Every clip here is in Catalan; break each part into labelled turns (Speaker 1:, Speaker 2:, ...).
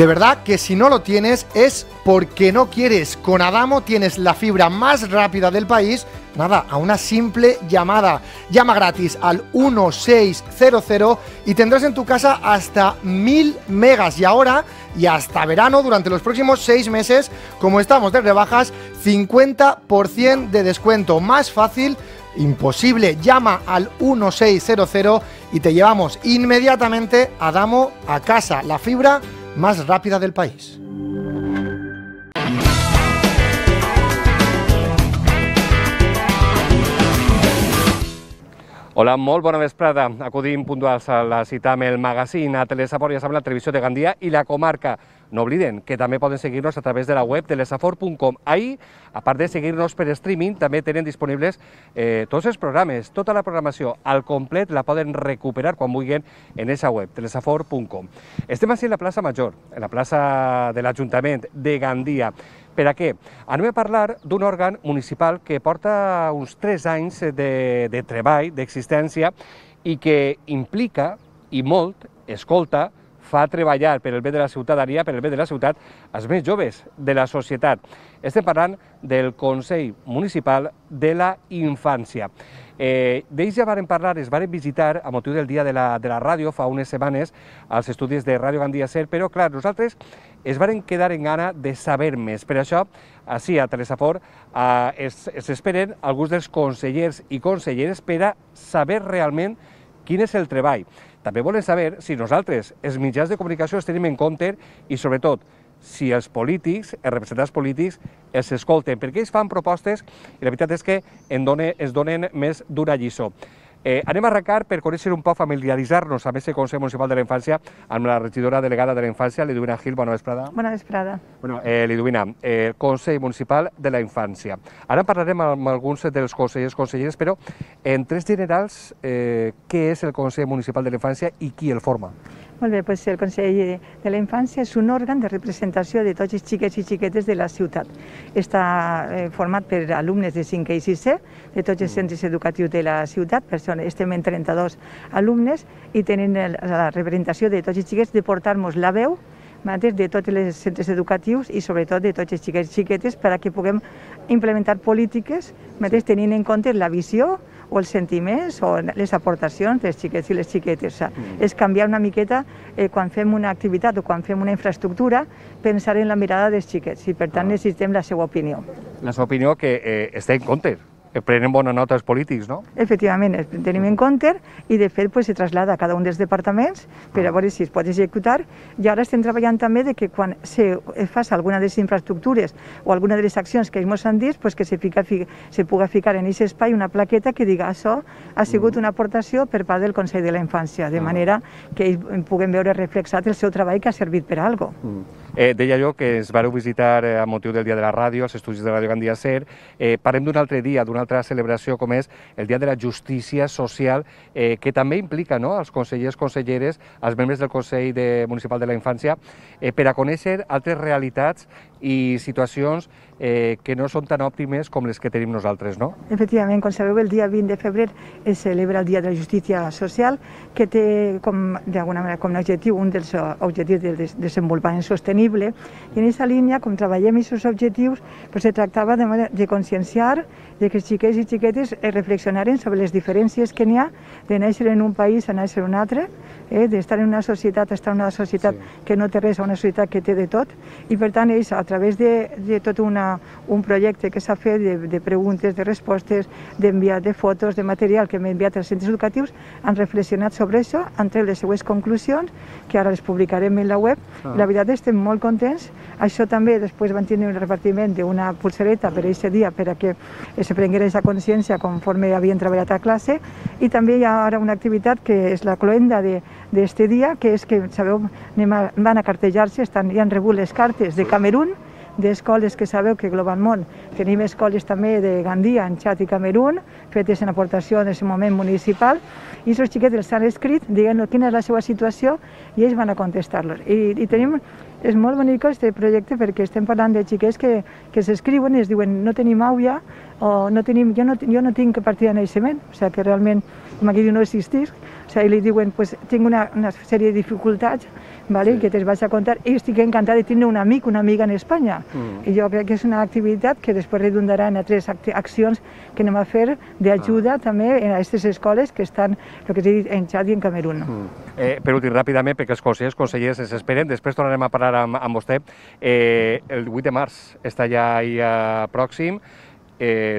Speaker 1: De verdad que si no lo tienes es porque no quieres. Con Adamo tienes la fibra más rápida del país, nada, a una simple llamada. Llama gratis al 1600 y tendrás en tu casa hasta 1000 megas. Y ahora y hasta verano, durante los próximos 6 meses, como estamos de rebajas, 50% de descuento. Más fácil imposible. Llama al 1600 y te llevamos inmediatamente Adamo a casa, la fibra más rápida del país.
Speaker 2: Hola, molt bona vesprada. Acudim puntuals a la cita amb el magazín a Telesaport, ja saben, la televisió de Gandia i la comarca. No obliden que també poden seguir-nos a través de la web telesaport.com. Ahí, a part de seguir-nos per streaming, també tenen disponibles tots els programes, tota la programació al complet la poden recuperar quan vulguin en aquesta web, telesaport.com. Estem així en la plaça Major, en la plaça de l'Ajuntament de Gandia. Per a què? Anem a parlar d'un òrgan municipal que porta uns 3 anys de treball, d'existència, i que implica, i molt, escolta, fa treballar per el bé de la ciutadania, per el bé de la ciutat, els més joves de la societat. Estem parlant del Consell Municipal de la Infància. D'ells ja varen parlar, es varen visitar a motiu del dia de la ràdio fa unes setmanes als estudis de Ràdio Gandia Ser, però clar, nosaltres es varen quedar en gana de saber més. Per això, així a Telesaport, es esperen alguns dels consellers i conselleres per a saber realment quin és el treball. També volen saber si nosaltres, els mitjans de comunicació, els tenim en compte i, sobretot, si els polítics, els representants polítics, els escolten, perquè ells fan propostes i la veritat és que ens donen més d'una lliçó. Anem a arrencar per conèixer un poc, familiaritzar-nos amb aquest Consell Municipal de la Infància amb la regidora delegada de la Infància, Liduvina Gil. Bona vesprada.
Speaker 3: Bona vesprada.
Speaker 2: Liduvina, Consell Municipal de la Infància. Ara parlarem amb alguns dels consellers i conselleres, però en tres generals, què és el Consell Municipal de la Infància i qui el forma?
Speaker 3: Molt bé, doncs el Consell de la Infància és un òrgan de representació de tots els xiquets i xiquetes de la ciutat. Està format per alumnes de 5è i 6è de tots els centres educatius de la ciutat, per això estem en 32 alumnes i tenen la representació de tots els xiquets de portar-nos la veu de tots els centres educatius i sobretot de tots els xiquets i xiquetes perquè puguem implementar polítiques tenint en compte la visió o els sentiments o les aportacions dels xiquets i les xiquetes. És canviar una miqueta quan fem una activitat o quan fem una infraestructura, pensar en la mirada dels xiquets i per tant necessitem la seva opinió.
Speaker 2: La seva opinió que està en compte. Prenen bona nota els polítics, no?
Speaker 3: Efectivament, tenim en compte i de fet se trasllada a cada un dels departaments per a veure si es pot executar i ara estem treballant també que quan se faci alguna de les infraestructures o alguna de les accions que ens han dit que se pugui ficar en aquest espai una plaqueta que diga això ha sigut una aportació per part del Consell de la Infància, de manera que ells puguem veure reflexat el seu treball que ha servit per a alguna cosa.
Speaker 2: Deia jo que es vareu visitar a motiu del Dia de la Ràdio, als estudis de Ràdio Gandia Ser. Parlem d'un altre dia, d'una altra celebració com és el Dia de la Justícia Social, que també implica els consellers, conselleres, els membres del Consell Municipal de la Infància, per a conèixer altres realitats i situacions que no són tan òptimes com les que tenim nosaltres, no?
Speaker 3: Efectivament, com sabeu, el dia 20 de febrer es celebra el Dia de la Justícia Social, que té d'alguna manera com a objectiu un dels objectius de desenvolupament sostenible, i en aquesta línia, com treballem aquests objectius, se tractava de conscienciar que els xiquets i xiquetes reflexionaren sobre les diferències que n'hi ha de néixer en un país a néixer en un altre, d'estar en una societat a estar en una societat que no té res a una societat que té de tot, i per tant ells, a través de tot un projecte que s'ha fet de preguntes, de respostes, d'enviar de fotos, de material que hem enviat als centres educatius, han reflexionat sobre això, han tret les seues conclusions, que ara les publicarem en la web. La veritat estem molt contents. Això també després van tenir un repartiment d'una pulsereta per aquest dia perquè se prenguera aquesta consciència conforme havien treballat a classe, i també hi ha ara una activitat que és la cloenda d'aquest dia, que és que, sabeu, van a cartejar-se, ja han rebut les cartes de Camerún, d'escoles que sabeu que globalment tenim escoles també de Gandia, Txad i Camerún, fetes en aportació en aquest moment municipal, i els xiquets els han escrit dient quina és la seva situació i ells van a contestar-los. I tenim, és molt bonic aquest projecte perquè estem parlant de xiquets que s'escriuen i es diuen no tenim àuia o jo no tinc partida de naixement, o sigui que realment, com aquí diu, no existís, o sigui, li diuen, pues, tinc una sèrie de dificultats, ¿vale? Que te'ls vaig a contar, i estic encantada de tenir un amic, una amiga en Espanya. I jo crec que és una activitat que després redundarà en altres accions que anem a fer d'ajuda també a aquestes escoles que estan, el que t'he dit, en Txad i en Camerún.
Speaker 2: Per últim, ràpidament, perquè els consellers ens esperen, després tornarem a parlar amb vostè. El 8 de març està ja ahí pròxim.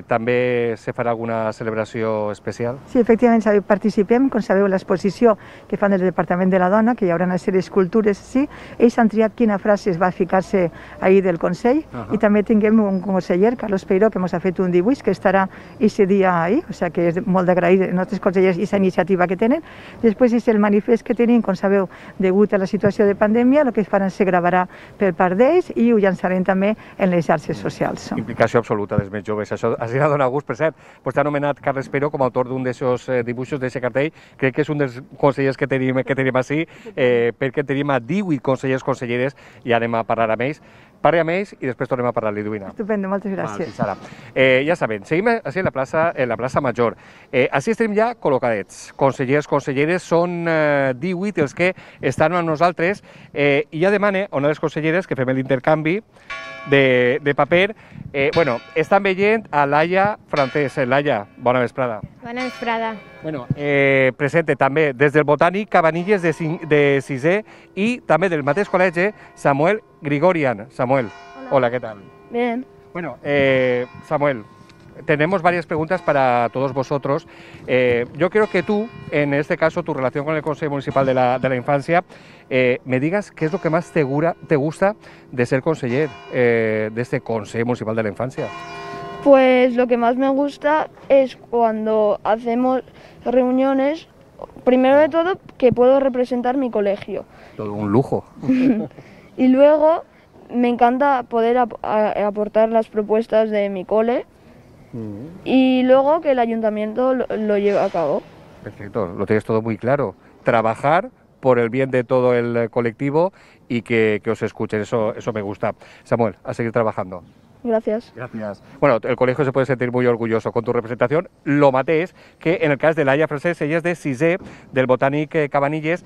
Speaker 2: També se farà alguna celebració especial?
Speaker 3: Sí, efectivament, participem, com sabeu, a l'exposició que fan del Departament de la Dona, que hi haurà una sèrie d'escultures, sí. Ells han triat quina frase es va ficar-se ahir del Consell, i també tinguem un conseller, Carlos Peiró, que ens ha fet un dibuix que estarà aquest dia ahir, o sigui que és molt d'agrair als nostres consellers aquesta iniciativa que tenen. Després és el manifest que tenim, com sabeu, degut a la situació de pandèmia, el que faran se gravarà per part d'ells i ho llançarem també en les xarxes socials.
Speaker 2: Implicació absoluta dels més joves. Això ha sigut donat gust, per cert. Vostè ha anomenat Carles Peiró com a autor d'un d'aquests dibuixos, d'aquest cartell. Crec que és un dels consellers que tenim així, perquè tenim a 18 consellers, conselleres, i anem a parlar amb ells. Parli amb ells i després tornem a parlar, Liduina.
Speaker 3: Estupendo, moltes gràcies.
Speaker 2: Ja saben, seguim així en la plaça Major. Així estem ja col·locadets. Consellers, conselleres, són 18 els que estan amb nosaltres, i ja demane a una de les conselleres que fem l'intercanvi de paper. Estan veient a Laia Francés. Laia, bona vesprada.
Speaker 4: Bona vesprada.
Speaker 2: Presente també des del Botànic Cabanilles de 6è i també del mateix col·legi Samuel Grigorian. Samuel, hola, ¿qué tal?
Speaker 4: Bien.
Speaker 2: Samuel, tenemos varias preguntas para todos vosotros. Yo quiero que tú, en este caso, tu relación con el Consejo Municipal de la Infancia, me digas qué es lo que más te gusta de ser conseller de este Consejo Municipal de la Infancia.
Speaker 4: Pues lo que más me gusta es cuando hacemos reuniones, primero de todo, que puedo representar mi colegio.
Speaker 2: Todo un lujo.
Speaker 4: Y luego me encanta poder aportar las propuestas de mi cole. Y luego que el ayuntamiento lo lleve a cabo.
Speaker 2: Perfecto, lo tienes todo muy claro. Trabajar por el bien de todo el colectivo y que os escuchen, eso me gusta. Samuel, a seguir trabajando.
Speaker 4: Gracias.
Speaker 2: Gracias. Bueno, el colegio se puede sentir muy orgulloso con tu representación. Lo mateix que en el cas de Laia Francés, ella és de 6è del Botànic Cabanilles.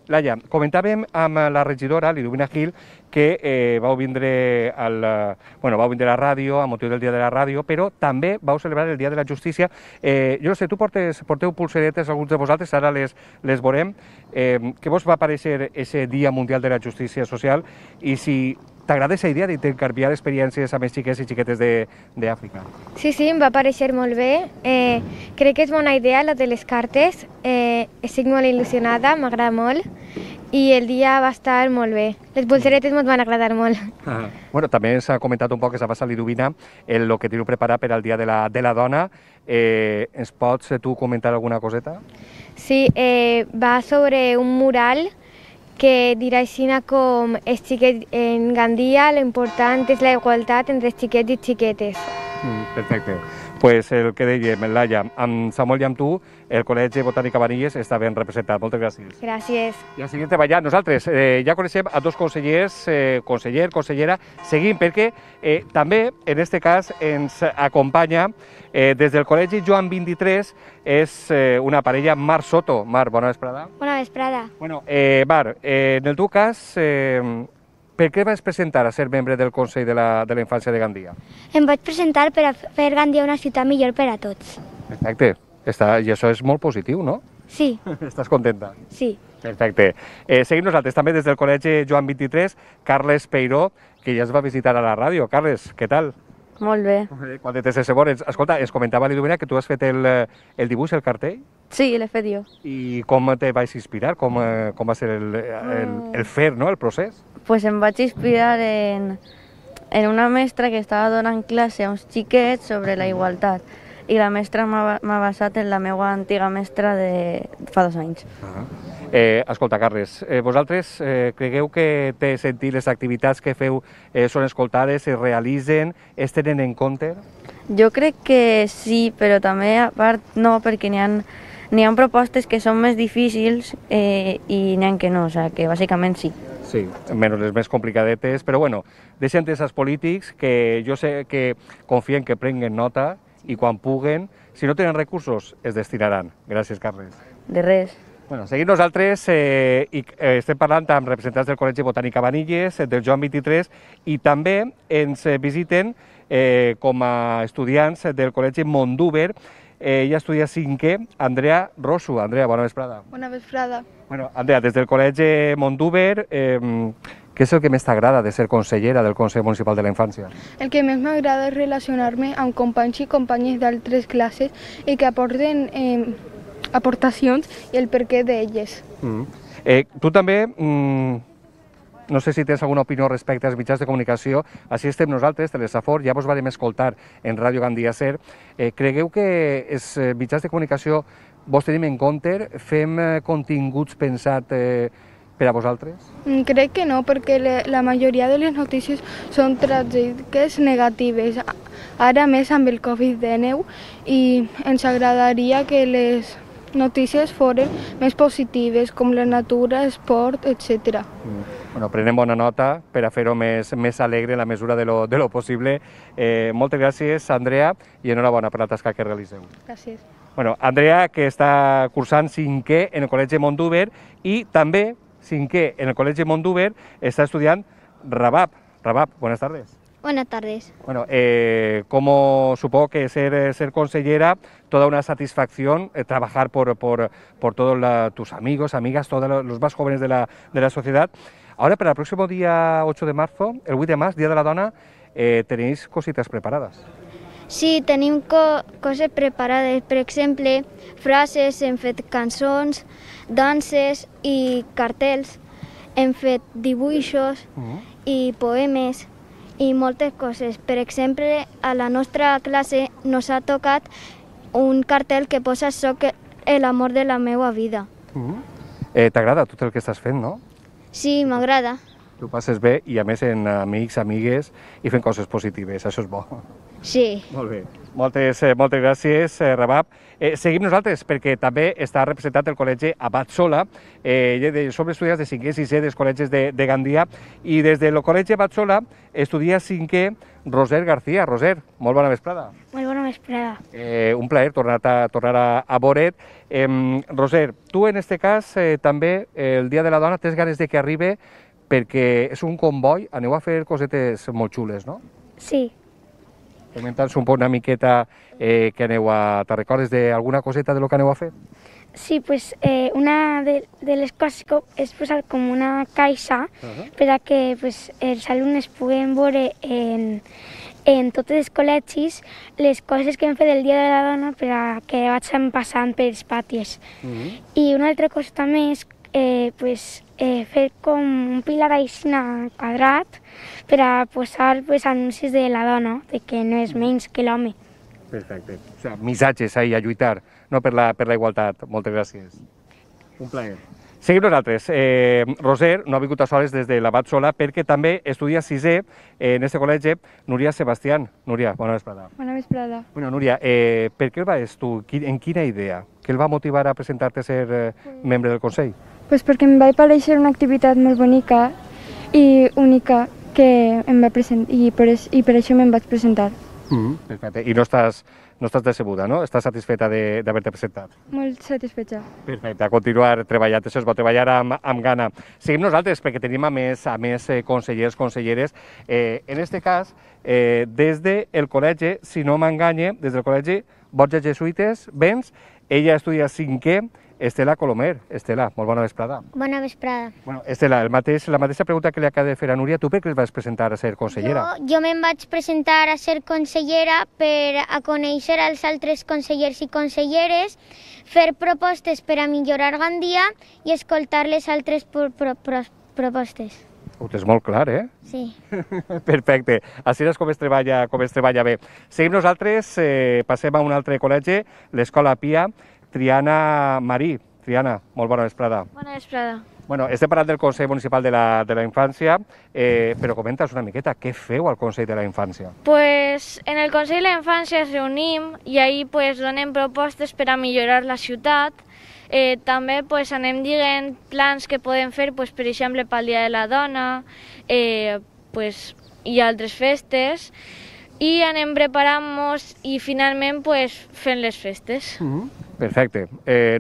Speaker 2: Laia, comentàvem amb la regidora, Liduina Gil, que vau vindre a la ràdio, a motiu del Dia de la Ràdio, però també vau celebrar el Dia de la Justícia. Jo no sé, tu porteu pulseretes, alguns de vosaltres, ara les veurem. Què vos va parecer aquest Dia Mundial de la Justícia Social i si t'agrada aquesta idea d'intercanviar experiències amb els xiquets i xiquetes d'Àfrica?
Speaker 5: Sí, em va parecer molt bé. Crec que és bona idea la de les cartes. Estic molt il·lusionada, m'agrada molt i el dia va estar molt bé. Les pulseretes ens van agradar molt.
Speaker 2: També s'ha comentat un poc que s'ha passat Liduina el que teniu preparat per al Dia de la Dona. Ens pots tu comentar alguna coseta?
Speaker 5: Sí, va sobre un mural que dirà així com els xiquets en Gandia, l'important és la igualtat entre xiquets i xiquetes.
Speaker 2: Perfecte. Pues el que dèiem, Laia, amb Samuel i amb tu, el Col·legi Botànic Cabanilles està ben representat. Moltes gràcies.
Speaker 5: Gràcies.
Speaker 2: I a seguir treballant. Nosaltres ja coneixem a dos consellers, conseller, consellera. Seguim perquè també, en aquest cas, ens acompanya des del Col·legi Joan 23, és una parella, Mar Soto. Mar, bona vesprada.
Speaker 5: Bona vesprada.
Speaker 2: Mar, en el teu cas, per què vas presentar a ser membre del Consell de la Infància de Gandia?
Speaker 6: Em vaig presentar per a fer Gandia una ciutat millor per a tots.
Speaker 2: Perfecte. I això és molt positiu, no?
Speaker 6: Sí.
Speaker 2: Estàs contenta?
Speaker 6: Sí.
Speaker 2: Perfecte. Seguim nosaltres també des del Col·legi Joan 23, Carles Peiró, que ja es va visitar a la ràdio. Carles, què tal?
Speaker 7: Molt bé.
Speaker 2: Quan te sense veure, escolta, ens comentava Liduina que tu has fet el dibuix, el cartell?
Speaker 7: Sí, l'he fet jo.
Speaker 2: I com te vais inspirar? Com va ser el fer, no?, el procés?
Speaker 7: Pues em vaig inspirar en una mestra que estava donant classe a uns xiquets sobre la igualtat i la mestra m'ha basat en la meva antiga mestra de fa 2 anys.
Speaker 2: Escolta, Carles, vosaltres cregueu que té sentit les activitats que feu són escoltades, es realitzen, es tenen en compte?
Speaker 7: Jo crec que sí, però també a part no, perquè n'hi ha propostes que són més difícils i n'hi ha que no, o sigui que bàsicament sí.
Speaker 2: Sí, menys les més complicadetes, però bueno, deixen els polítics que jo sé que confien que prenguen nota i quan puguen, si no tenen recursos, es destinaran. Gràcies, Carles.
Speaker 7: de res.
Speaker 2: Bueno, seguim nosaltres i estem parlant amb representants del Col·legi Botànic Cabanilles, del Joan 23, i també ens visiten com a estudiants del Col·legi Mondúber. Ella estudia 5è, Andrea Rosu. Andrea, bona vesprada.
Speaker 4: Bona vesprada.
Speaker 2: Bueno, Andrea, des del Col·legi Mondúber, què és el que més t'agrada de ser consellera del Consell Municipal de la Infància?
Speaker 4: El que més m'agrada és relacionar-me amb companys i companyes d'altres classes i que aporten aportacions i el perquè d'elles.
Speaker 2: Tu també, no sé si tens alguna opinió respecte als mitjans de comunicació, així estem nosaltres, Telesafor, ja vos vam escoltar en Ràdio Gandia Ser. Cregueu que els mitjans de comunicació vos tenim en compte, fem continguts pensats per a vosaltres?
Speaker 4: Crec que no, perquè la majoria de les notícies són tràgiques negatives, ara més amb el Covid-19, i ens agradaria que les notícies foren més positives, com la natura, esport, etc.
Speaker 2: Bueno, prenem bona nota per a fer-ho més alegre en la mesura de lo possible. Moltes gràcies, Andrea, i enhorabona per la tasca que realiseu.
Speaker 4: Gràcies.
Speaker 2: Bueno, Andrea, que està cursant 5è en el Col·legi Mondúber, i també 5è en el Col·legi Mondúber està estudiant Rabab. Rabab, buenas tardes.
Speaker 6: Buenas tardes.
Speaker 2: Bueno, como supongo que ser consellera, toda una satisfacción trabajar por todos tus amigos, amigas, todos los más jóvenes de la sociedad. Ahora, para el próximo día 8 de marzo, el 8 de març, Día de la Dona, tenéis cositas preparadas.
Speaker 6: Sí, tenim coses preparades. Per exemple, frases, hem fet cançons, danses i cartells, hem fet dibuixos i poemes i moltes coses. Per exemple, a la nostra classe nos ha tocat un cartell que posa "Soc l'amor de la meva vida".
Speaker 2: T'agrada tot el que estàs fent, no?
Speaker 6: Sí, m'agrada.
Speaker 2: Tu passes bé i a més en amics, amigues i fent coses positives, això és bo.
Speaker 6: Sí.
Speaker 2: Molt bé. Moltes gràcies, Rabab. Seguim nosaltres, perquè també està representat el col·legi Abat Sola. Som estudiants de 5è i 6è dels col·legis de Gandia, i des del col·legi Abat Sola estudia 5è Roser García. Roser, molt bona vesprada.
Speaker 6: Molt bona vesprada.
Speaker 2: Un plaer tornar a veure't. Roser, tu en aquest cas també el Dia de la Dona tens ganes de que arribi perquè és un comboi, aneu a fer cosetes molt xules, no?
Speaker 6: Sí.
Speaker 2: Comenta'ns un poc una miqueta que aneu a... Te recordes d'alguna coseta de lo que aneu a fer?
Speaker 6: Sí, pues una de les coses és posar com una caixa per a que pues, els alumnes puguen veure en tots els col·legis les coses que hem fet el Dia de la Dona per a que vagin passant pels patis. I una altra cosa també és fer com un pilar així quadrat per a posar anuncis de la dona, de que no és menys que l'home.
Speaker 2: Perfecte. O sigui, missatges ahí a lluitar, no per la igualtat. Moltes gràcies. Un plaer. Seguim nosaltres. Roser no ha vingut a soles des de l'Abat Sola perquè també estudia 6è en aquest col·legi Núria Sebastián. Núria, bona vesprada.
Speaker 4: Bona vesprada.
Speaker 2: Bueno, Núria, per què el vas tu? En quina idea? Què el va motivar a presentar-te a ser membre del Consell?
Speaker 4: Pues perquè em va parèixer una activitat molt bonica i única que em va presentar, i per això me'n vaig presentar.
Speaker 2: Perfecte. I no estàs decebuda, no? Estàs satisfeta d'haver-te presentat?
Speaker 4: Molt satisfeta.
Speaker 2: Perfecte, a continuar treballant, això es va treballar amb gana. Seguim nosaltres, perquè tenim a més consellers, conselleres. En aquest cas, des del col·legi, si no m'enganye, des del col·legi Borges Jesuïtes, Vents, ella estudia 5è, Estela Colomer. Estela, molt bona vesprada.
Speaker 6: Bona vesprada.
Speaker 2: Bueno, Estela, la mateixa pregunta que li acaba de fer a Núria, tu per què es vas presentar a ser consellera?
Speaker 6: Jo me'n vaig presentar a ser consellera per a conèixer els altres consellers i conselleres, fer propostes per a millorar Gandia i escoltar les altres propostes.
Speaker 2: Ho tens molt clar,
Speaker 6: Sí.
Speaker 2: Perfecte. Així és com es treballa bé. Seguim nosaltres, passem a un altre col·legi, l'Escola Pia, Triana Marí. Triana, molt bona vesprada.
Speaker 4: Bona vesprada.
Speaker 2: Bueno, estem parlant del Consell Municipal de la Infància, però comenta'ns una miqueta, què feu al Consell de la Infància?
Speaker 8: Pues en el Consell de la Infància ens reunim i ahí pues donem propostes per a millorar la ciutat. També pues anem dient plans que podem fer, pues, per exemple, pel Dia de la Dona pues, i altres festes, i anem preparant-nos i finalment pues, fent les festes.
Speaker 2: Perfecte.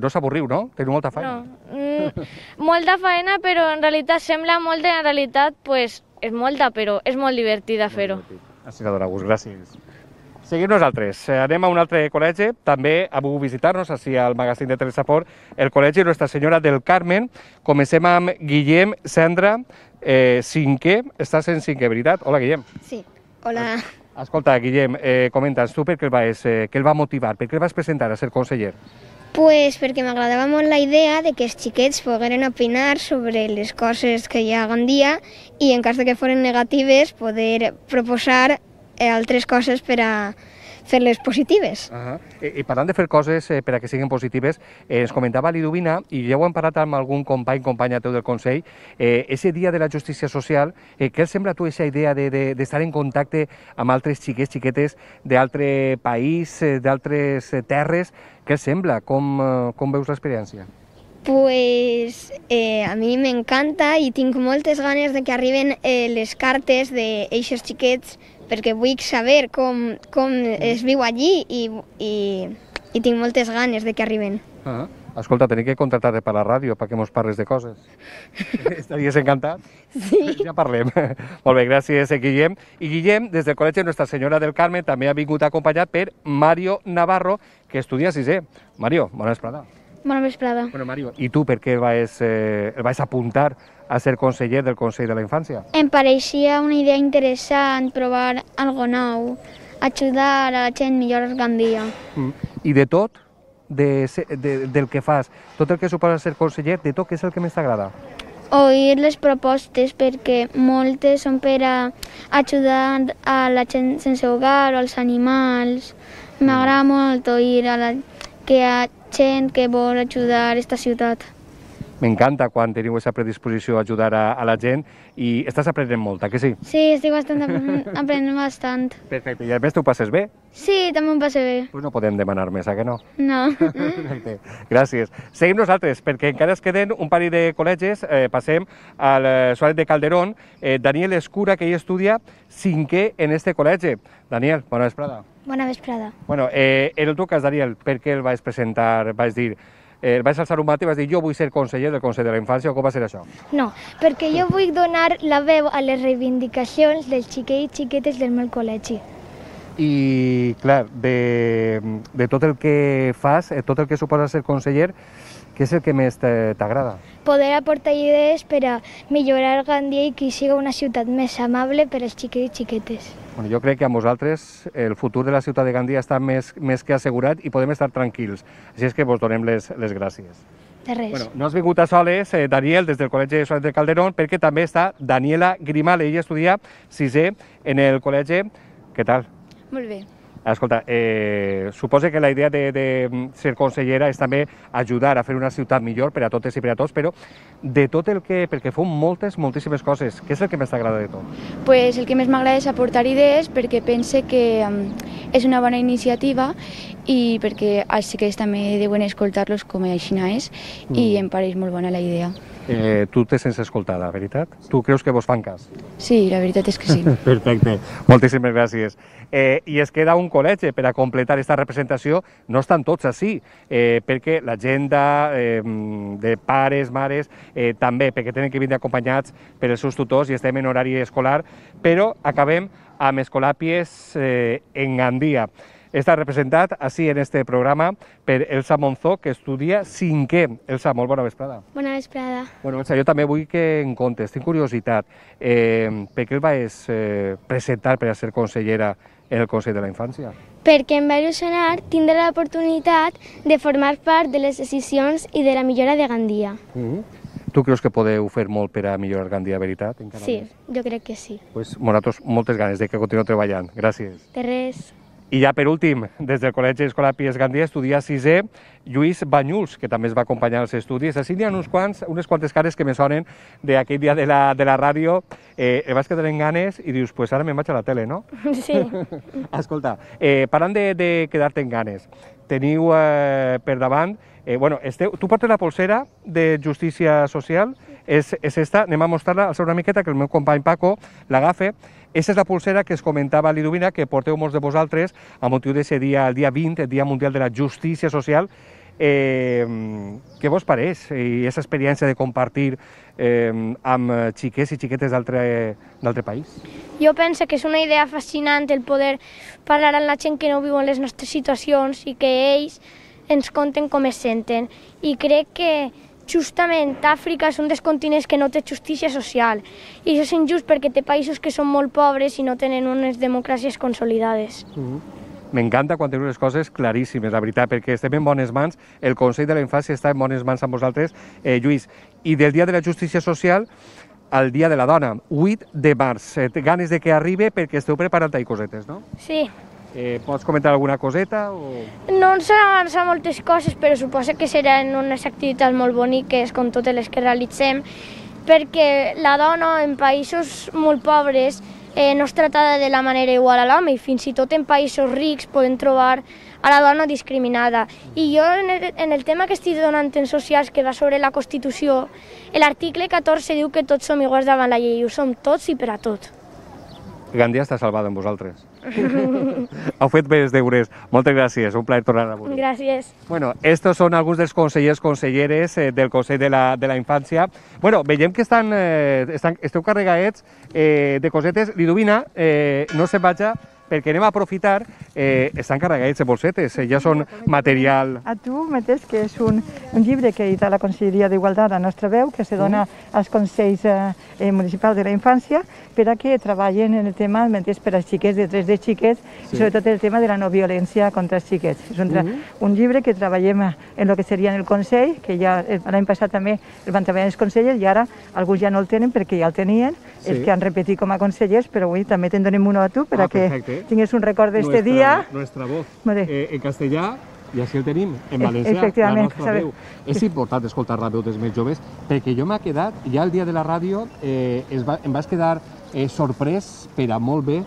Speaker 2: No s'avorriu, no? Teniu molta feina.
Speaker 8: No, molta feina, però en realitat sembla molta, en realitat pues, és molta, però és molt divertida fer-ho.
Speaker 2: Així que dona gust, gràcies. Seguim nosaltres. Anem a un altre col·legi, també ha volgut visitar-nos, així al magazín de Telesapor, el col·legi Nostra Senyora del Carmen. Comencem amb Guillem Cendra, 5è, estàs en 5è, veritat? Hola, Guillem.
Speaker 9: Sí, hola.
Speaker 2: Escolta, Guillem, comenta'ns tu per què el va motivar, per què el vas presentar a ser conseller?
Speaker 9: Pues perquè m'agradava molt la idea de que els xiquets pogueren opinar sobre les coses que hi ha a Gandia i en cas de que foren negatives poder proposar altres coses per a fer-les positives.
Speaker 2: I parlant de fer coses per a que siguin positives, ens comentava Liduvina, i ja ho hem parlat amb algun companya teu del Consell, ese dia de la justícia social, què et sembla a tu aquesta idea d'estar en contacte amb altres xiquets, xiquetes d'altre país, d'altres terres? Què et sembla? Com veus l'experiència?
Speaker 9: Pues a mi m'encanta i tinc moltes ganes de que arriben les cartes d'eixos xiquets perquè vull saber com es viu allí i tinc moltes ganes de que arriben.
Speaker 2: Escolta, tenim que contractar-te per la ràdio perquè mos parles de coses. Estaries encantat?
Speaker 9: Sí.
Speaker 2: Ja parlem. Molt bé, gràcies, Guillem. I Guillem, des del Col·legi Nostra Senyora del Carme, també ha vingut acompanyat per Mario Navarro, que estudia 6è. Mario, bona vesprada.
Speaker 10: Bona vesprada.
Speaker 2: Bueno, Mario, i tu per què el vas apuntar a ser conseller del Consell de la Infància?
Speaker 10: Em pareixia una idea interessant provar algo nou, ajudar a la gent millorar Gandia.
Speaker 2: I de tot, del que fas, tot el que suposa ser conseller, de tot, què és el que més t'agrada?
Speaker 10: Oir les propostes, perquè moltes són per a ajudar a la gent sense hogar o als animals. M'agrada molt oir que hi ha gent que vol ajudar aquesta ciutat.
Speaker 2: M'encanta quan teniu aquesta predisposició a ajudar a la gent i estàs aprenent molt, que sí?
Speaker 10: Sí, estic aprenent bastant.
Speaker 2: Perfecte, i a més t'ho passes bé?
Speaker 10: Sí, també em passa bé.
Speaker 2: Pues no podem demanar més, que no?
Speaker 10: No.
Speaker 2: Perfecte, gràcies. Seguim nosaltres, perquè encara es queden un parell de col·legis. Passem al Suárez de Calderón. Daniel Escura, que hi estudia 5è en este col·legi. Daniel, bona vesprada.
Speaker 10: Bona vesprada.
Speaker 2: Bueno, en el teu cas, Daniel, per què el vaig presentar, vaig dir, vaig alçar un mat i vaig dir jo vull ser conseller del Consell de la Infància, o com va ser això?
Speaker 10: No, perquè jo vull donar la veu a les reivindicacions dels xiquets i xiquetes del meu col·legi.
Speaker 2: I, clar, de tot el que fas, tot el que suposa ser conseller, què és el que més t'agrada?
Speaker 10: Poder aportar idees per a millorar Gandia i que sigui una ciutat més amable per als xiquets i xiquetes.
Speaker 2: Bueno, jo crec que amb vosaltres el futur de la ciutat de Gandia està més que assegurat i podem estar tranquils. Així és que vos donem les gràcies.
Speaker 10: De res.
Speaker 2: Bueno, no has vingut a soles, Daniel, des del Col·legi Suárez de Calderón, perquè també està Daniela Grimal. Ella estudia 6è en el col·legi. Què tal?
Speaker 10: Molt bé.
Speaker 2: Escolta, suposo que la idea de ser consellera és també ajudar a fer una ciutat millor per a totes i per a tots, però de tot el que... perquè feu moltíssimes coses. Què és el que més t'agrada de tot?
Speaker 11: Pues el que més m'agrada és aportar idees perquè pense que és una bona iniciativa i perquè els xiquets també deuen escoltar-los com així és i em pareix molt bona la idea.
Speaker 2: Tu te sents escoltada, veritat? Tu creus que vos fan cas?
Speaker 11: Sí, la veritat és que sí.
Speaker 2: Perfecte, moltíssimes gràcies. I es queda un col·legi per a completar aquesta representació. No estan tots així, perquè l'agenda de pares, mares, també, perquè tenen que vindre acompanyats per els seus tutors i estem en horari escolar, però acabem amb Escolàpies en Gandia. Està representat així en este programa per Elsa Monzó, que estudia 5è. Elsa, molt bona vesprada.
Speaker 10: Bona vesprada.
Speaker 2: Bueno, Elsa, jo també vull que en comptes, tinc curiositat. Per què el vaig presentar per a ser consellera en el Consell de la Infància?
Speaker 10: Perquè em va il·lusionar tindre l'oportunitat de formar part de les decisions i de la millora de Gandia.
Speaker 2: Tu creus que podeu fer molt per a millorar Gandia, veritat?
Speaker 10: Sí, jo crec que sí.
Speaker 2: Pues nosaltres moltes ganes de que continueu treballant. Gràcies.
Speaker 10: De res.
Speaker 2: I ja per últim, des del Col·legi Escolàpies Gandia estudia 6è Lluís Banyuls, que també es va acompanyar als estudis. Així n'hi ha unes quantes cares que me sonen d'aquell dia de la ràdio. El vas quedar en ganes i dius, pues ara me'n vaig a la tele, no?
Speaker 10: Sí.
Speaker 2: Escolta, parlant de quedar-te en ganes, teniu per davant... tu portes la polsera de Justícia Social, és esta, anem a mostrar-la, alçar una miqueta, que el meu company Paco l'agafa. Aquesta és la pulsera que es comentava a Liduvina, que porteu molts de vosaltres a motiu d'aquest dia, el dia 20, el Dia Mundial de la Justícia Social. Què vos pareix? I aquesta experiència de compartir amb xiquets i xiquetes d'altre país?
Speaker 12: Jo penso que és una idea fascinant el poder parlar amb la gent que no viu en les nostres situacions i que ells ens conten com es senten. I crec que justament Àfrica és un dels continents que no té justícia social. I això és injust perquè té països que són molt pobres i no tenen unes democràcies consolidades.
Speaker 2: M'encanta quan teniu les coses claríssimes, la veritat, perquè estem en bones mans, el Consell de la Infància està en bones mans amb vosaltres. Lluís, i del Dia de la Justícia Social al Dia de la Dona, 8 de març. Ganes de que arribi perquè esteu preparant-hi cosetes, no?
Speaker 12: Sí.
Speaker 2: Pots comentar alguna coseta?
Speaker 12: No ens han avançat moltes coses, però suposo que seran unes activitats molt boniques, com totes les que realitzem, perquè la dona en països molt pobres no és tratada de la manera igual a l'home i fins i tot en països rics podem trobar a la dona discriminada. I jo en el tema que estic donant en socials, que va sobre la Constitució, l'article 14 diu que tots som iguals davant la llei, ho som tots i per a tot.
Speaker 2: Gandia està salvada amb vosaltres. Heu fet bé els deures. Moltes gràcies, un plaer tornar a veure.
Speaker 12: Gràcies.
Speaker 2: Bueno, estos són alguns dels consellers, conselleres del Consell de la Infància. Bueno, veiem que esteu carregats de cosetes. Liduvina, no se'n vaja, perquè anem a aprofitar, estan carregats de bolsetes, ja són material...
Speaker 3: A tu mateix, que és un llibre que edita la Conselleria d'Igualtat, La Nostra Veu, que se dona als Consells Municipals de la Infància, per a que treballen en el tema per als xiquets, de drets de xiquets, i sobretot el tema de la no violència contra els xiquets. És un llibre que treballem en el que seria en el Consell, que ja l'any passat també el van treballar els consellers, i ara alguns ja no el tenen perquè ja el tenien, els que han repetit com a consellers, però avui també te'n donem uno a tu per a que tingués un record d'este dia.
Speaker 2: Nuestra voz en castellà, i així el tenim, en valencià, la nostra veu. És important escoltar la veu dels més joves, perquè jo m'ha quedat, ja el dia de la ràdio, em vaig quedar sorprès per a molt bé,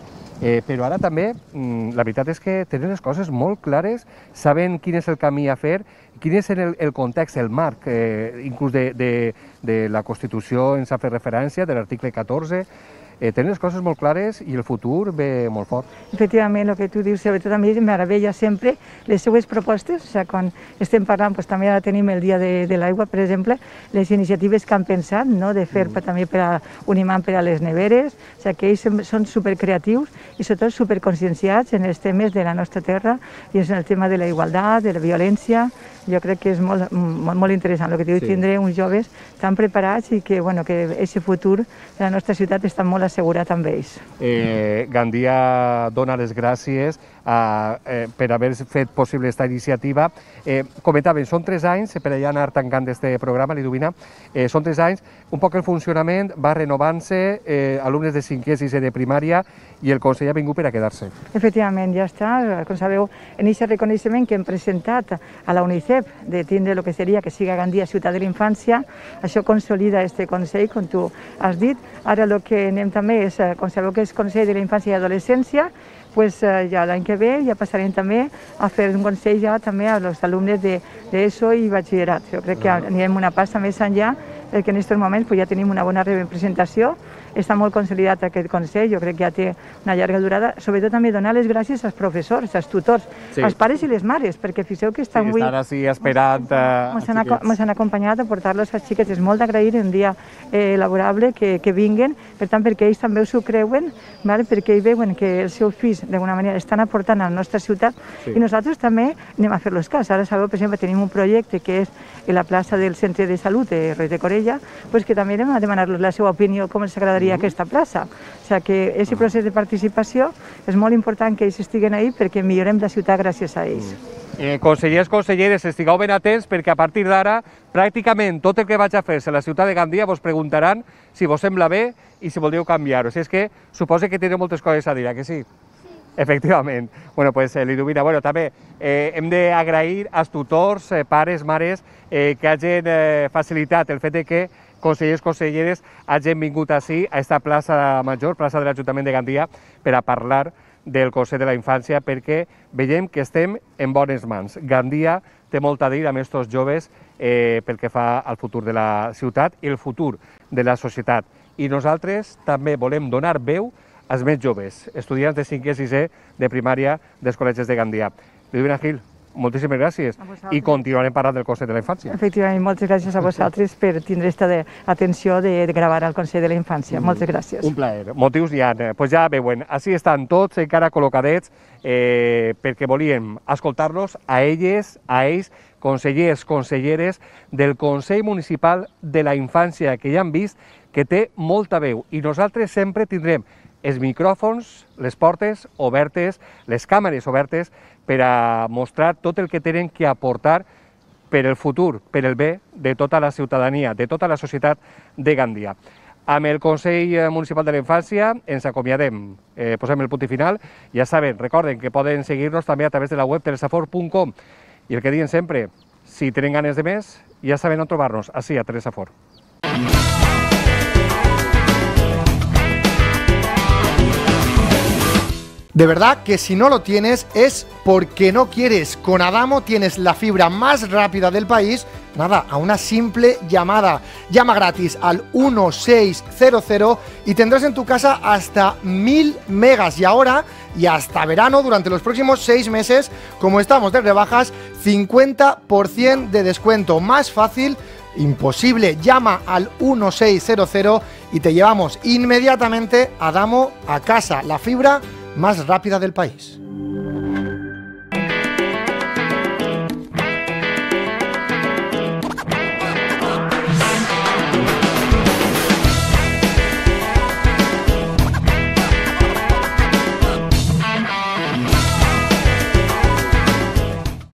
Speaker 2: però ara també, la veritat és que tenen les coses molt clares, saben quin és el camí a fer, quin és el context, el marc, inclús de la Constitució ens ha fet referència, de l'article 14, tenen les coses molt clares i el futur ve molt fort.
Speaker 3: Efectivament, el que tu dius, sobretot a mi em meravella sempre les seues propostes, o sigui, quan estem parlant, també ara tenim el Dia de l'Aigua, per exemple, les iniciatives que han pensat, de fer també per a un imant per a les neveres, o sigui, que ells són supercreatius i sobretot superconscienciats en els temes de la nostra terra i en el tema de la igualtat, de la violència. Jo crec que és molt interessant el que diu, tindre uns joves tan preparats i que aquest futur de la nostra ciutat està molt assegurat amb ells.
Speaker 2: Gandia dona les gràcies per haver fet possible aquesta iniciativa. Comentaven, són 3 anys, per allà anar tancant aquest programa, Liduvina, són 3 anys, un poc el funcionament va renovant-se, alumnes de 5è i 6è de primària, i el Consell ha vingut per a quedar-se.
Speaker 3: Efectivament, ja està. Com sabeu, en aquest reconeixement que hem presentat a la UNICEF de tindre el que seria que siga Gandia ciutat de la infància, això consolida aquest Consell, com tu has dit. Ara el que anem també és, com sabeu que és Consell de la Infància i Adolescència, ja l'any que ve ja passarem també a fer un consell ja també als alumnes d'ESO i batxillerat. Jo crec que anirem una passa més enllà, perquè en aquests moments ja tenim una bona representació, està molt consolidat aquest Consell, jo crec que ja té una llarga durada, sobretot també donar les gràcies als professors, als tutors, als pares i les mares, perquè fixeu que estan avui...
Speaker 2: Estan així esperant
Speaker 3: ens han acompanyat a portar-los als xiquets. És molt d'agrair un dia laborable que vinguen, per tant, perquè ells també s'ho creuen, perquè ells veuen que els seus fills d'alguna manera estan aportant a la nostra ciutat i nosaltres també anem a fer-los cas. Ara sabeu, per exemple, tenim un projecte que és en la plaça del Centre de Salut de Roig de Corella, que també anem a demanar-los la seva opinió, com els agradaria aquesta plaça. O sigui que aquest procés de participació és molt important que ells estiguen ahí perquè millorem la ciutat gràcies a ells.
Speaker 2: Consellers, conselleres, estigueu ben atents perquè a partir d'ara pràcticament tot el que vaig a fer-se a la ciutat de Gandia vos preguntaran si vos sembla bé i si voldríeu canviar-ho. O sigui, és que suposo que teniu moltes coses a dir, que sí? Efectivament. Bueno, pues Liduvina, també hem d'agrair als tutors, pares, mares, que hagin facilitat el fet que consellers, conselleres hagin vingut així a esta plaça major, plaça de l'Ajuntament de Gandia, per a parlar del Consell de la Infància, perquè veiem que estem en bones mans. Gandia té molt a dir amb aquests joves pel que fa al futur de la ciutat i el futur de la societat. I nosaltres també volem donar veu als més joves, estudiants de 5è i 6è de primària dels col·legis de Gandia. Liduvina Gil, moltíssimes gràcies i continuarem parlant del Consell de la Infància.
Speaker 3: Efectivament, moltes gràcies a vosaltres per tindre aquesta atenció de gravar al Consell de la Infància. Moltes gràcies.
Speaker 2: Un plaer. Motius hi ha. Pues ja veuen, així estan tots encara col·locadets perquè volíem escoltar-los a elles, a ells, consellers, conselleres del Consell Municipal de la Infància, que ja han vist que té molta veu i nosaltres sempre tindrem els micròfons, les portes obertes, les càmeres obertes per a mostrar tot el que tenen que aportar per el futur, per el bé de tota la ciutadania, de tota la societat de Gandia. Amb el Consell Municipal de la Infància ens acomiadem, posem el punt i final. Ja saben, recorden que poden seguir-nos també a través de la web telesafor.com i el que diuen sempre, si tenen ganes de més, ja saben on trobar-nos, així a Telesafor.
Speaker 1: De verdad que si no lo tienes es porque no quieres. Con Adamo tienes la fibra más rápida del país, nada, a una simple llamada. Llama gratis al 1600 y tendrás en tu casa hasta 1000 megas. Y ahora, y hasta verano, durante los próximos 6 meses, como estamos de rebajas, 50% de descuento. Más fácil, imposible. Llama al 1600 y te llevamos inmediatamente Adamo a casa. La fibra más rápida del país.